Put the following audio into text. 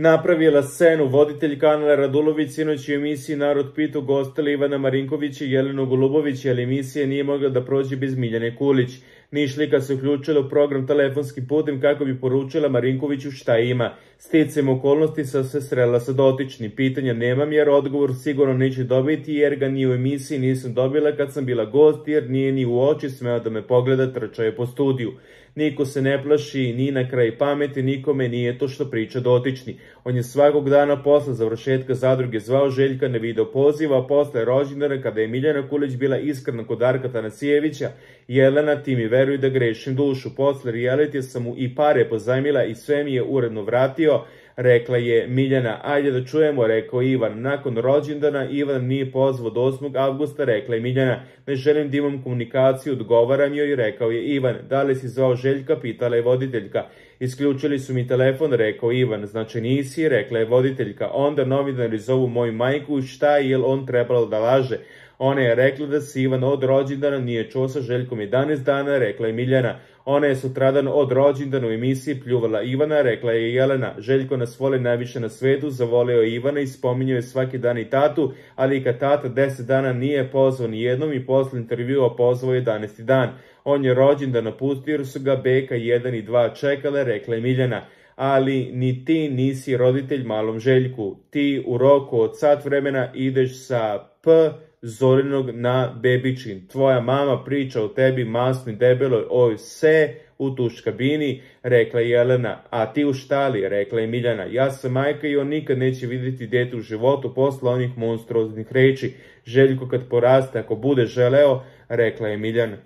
napravila scenu. Voditelj kanala Radulović sinoć u emisiji Narod pitao gostila Ivana Marinkovića i Jelenu Golubović, jer emisija nije mogla da prođe bez Miljane Kulić. Nišlika se uključila u program telefonskim putem kako bi poručila Marinkoviću šta ima. Sticajem okolnosti sam se srela sa dotičnim. Pitanja nemam jer odgovor sigurno neće dobiti jer ga ni u emisiji nisam dobila kad sam bila gost jer nije ni u oči smeo da me pogleda, trčao je po studiju. Niko se ne plaši, ni na kraj pameti, nikome nije to što priča dotični. On je svakog dana posle završetka zadruge zvao Željka na video poziva, a posle rođendana kada je Miljana Kulić bila iskrena kod Darka Tanasijevića, Jelena, ti mi veruj da grešim dušu. Posle realitija sam mu i pare pozajmila i sve mi je uredno vratio, rekla je Miljana. Ajde da čujemo, rekao Ivan. Nakon rođendana Ivan nije pozvao do 8. avgusta, rekla je Miljana. Ne želim da imam komunikaciju, odgovaram joj, rekao je Ivan. Da li si zvao Željka, pitala je voditeljka. Isključili su mi telefon, rekao Ivan. Znači nisi, rekla je voditeljka. Onda novinari zovu moju majku, šta je, jel on trebalo da laže? Ona je rekla da se Ivan od rođendana nije čuo sa Željkom 11 dana, rekla je Miljana. Ona je sutradan od rođendana u emisiji pljuvala Ivana, rekla je Jelena. Željko nas voli najviše na svetu, zavoleo je Ivana i spominjao je svaki dan i tatu, ali i kad tata 10 dana nije pozvao ni jednom i posle intervjua pozvao 11. dan. On je rođendan napustio jer su ga beka 1 i 2 čekale, rekla je Miljana. Ali ni ti nisi roditelj malom Željku. Ti u roku od sat vremena ideš sa Zorinog na Bebičin. Tvoja mama priča o tebi masnoj debeloj oj se u tuš kabini, rekla je Jelena. A ti u štali, rekla je Miljana. Ja sam majka i on nikad neće vidjeti dete u životu posle onih monstruoznih reči. Željko kad poraste, ako bude želeo, rekla je Miljana.